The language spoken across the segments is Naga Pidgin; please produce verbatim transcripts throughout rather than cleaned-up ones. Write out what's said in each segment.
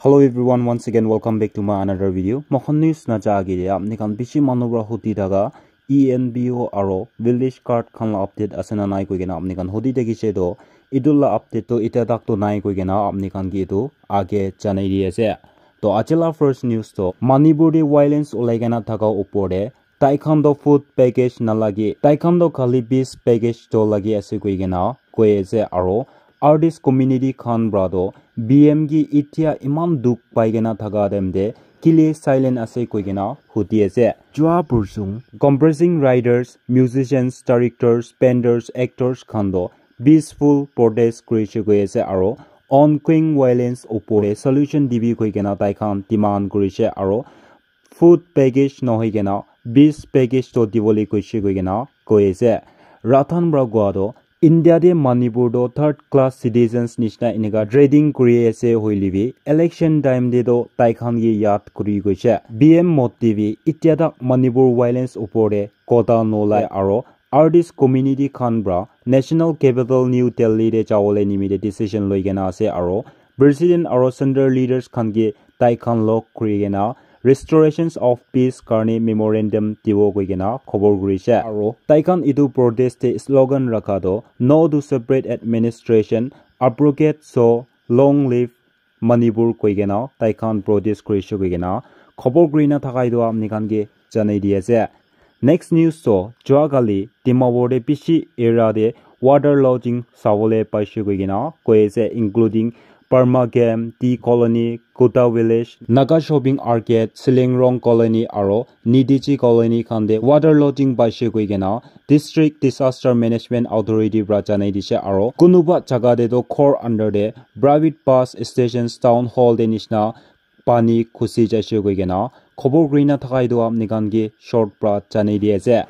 Hello everyone, once again welcome back to my another video. Moikhan news na ja age de apni khan bishi manu para hudi thaka E N P O aro village card khan la update ase na nai koi kena apni khan hudi thakishe to, etu la update to itya tak to nai koi kena apni khan ke etu age janai di ase. To aji la first news to Manipur de violence ulai kena thaka upor de tai khan to food package na lage, tai khan to khali bis package to lage ase koi kena koi ase. Aro artist community khan para to B M ke itya iman dukh pai kena thaka time te kile silent ase koi kena hudi ase. Jua pursung comprising writers, musicians, directors, painters, actors khan to peaceful protest kurishe koi ase aro ongoing violence upor te solution dibi koi kena tai khan demand kurishe aro food package nohoi kena bis package to dibole koishe koi kena koi ase. Ratan para koa to India de Manipur to third class citizens nishina enika treating kuri ase hoile bi election time de to tai khan ke yaad kuri koishe. B M Modi bi itya tak Manipur violence upor de kota nolai aro artist community khan para national capital New Delhi de jawole nimite decision loi kena ase aro president aro central leaders khan ke tai khan log kuri kena restorations of peace karne memorandum dibo koi kena khobor kurishe. Aro tai khan etu protest te slogan rakha to no to separate administration, abrogate so long live Manipur koi kena tai khan protest kurishe koi kena khobor kuri na thaka etu apni khan ke janai di ase. Next news to jua kali Dimapur de bishi area de water logging sabole paishe koi kena koi ase, including Parma Game, Tea Colony, Kuta Village, Naga Shopping Arcade, Silingrong Colony aro Nidiji Colony khan de water logging paishe koi kena District Disaster Management Authority para janai dishe. Aro kunuba jaga de to ghor under de private bus stations, town hall de nishina pani khusi jaishe koi kena khobor kuri na thaka etu apni khan ke short para janai di ase.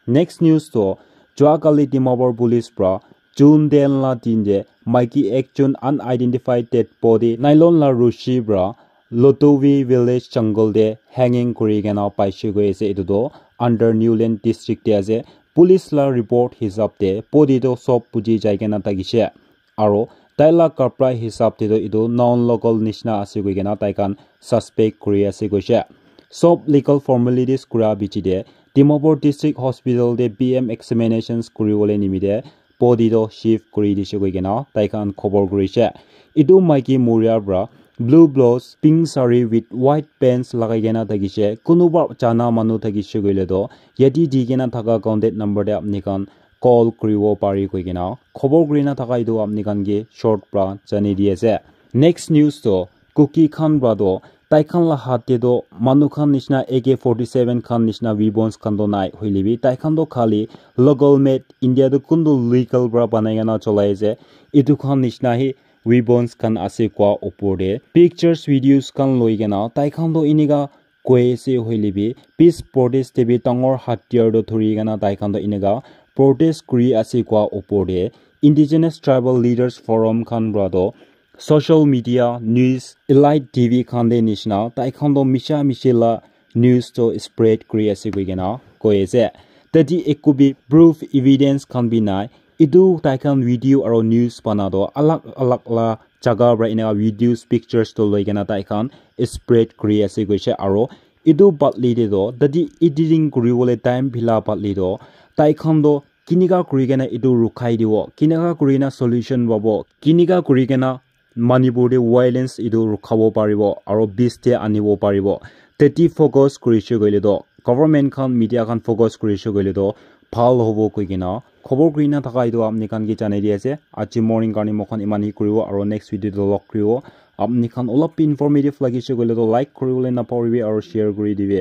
Next news to jua kali Dimapur police para June ten la din de maiki ekjon unidentified dead body nylon la rushi para Lotovi village jungle de hanging kuri kena paishe koi ase. Etu to under Newland district de ase. Police la report hisab de body to sob buji jai kena thakishe. Aro tai la kapra hisab te to etu non local nishina ase koi kena tai khan suspect kuri ase koishe. Sob legal formalities kura bichi de Dimapur District Hospital de B M examinations kuri bole nimite body to shift kuri dishe koi kena tai khan khobor kurishe. Etu maiki moria para blue blouse, pink sari with white pants lagai kena thakishe. Kunuba jana manu thakishe koile to yate di kena thaka contact number de apni khan call kuribo pari koi kena khobor kuri na thaka etu apni khan ke short para janai di ase. Next news to Kuki khan para to tai khan la hath te to manu khan nishina A K forty seven khan nishina weapons khan to nai hoile bi tai khan to khali local made India to kuntu legal para banai kena cholai ase etu khan nishina hi weapons khan ase koa upor te pictures videos khan loi kena tai khan to enika koi ase hoile bi peace protest te bi dangor hatiyar to dhuri kena tai khan to enika protest kuri ase koa upor te Indigenous Tribal Leaders Forum khan para to social media, news, elite T V khan de nishina tai khan to misha mishi la news to spread kuri ase koi kena koi ase. Tate eku bi proof evidence khan bi nai. Etu tai khan video aro news bana to alag alag la jaga para enika videos, pictures to loi kena tai khan spread kuri ase koishe. Aro etu badli te to tate editing kuri bole time phila badli to tai khan to kinika kuri kena etu rukhai dibo, kinika kuri kena solution pabo, kinika kuri kena Manipur te violence etu rukhabo paribo aro peace te anibo paribo. Tate focus kurishe koile to government khan, media khan focus kurishe koile to bhal hobo koi kena khobor kuri na thaka etu apni khan ke janai di ase. Aji morning karne moikhan eman hi kuribo aro next video te log kuribo. Apni khan olop bi informative lagishe koile to like kuribole napahoribi aro share kuri dibi.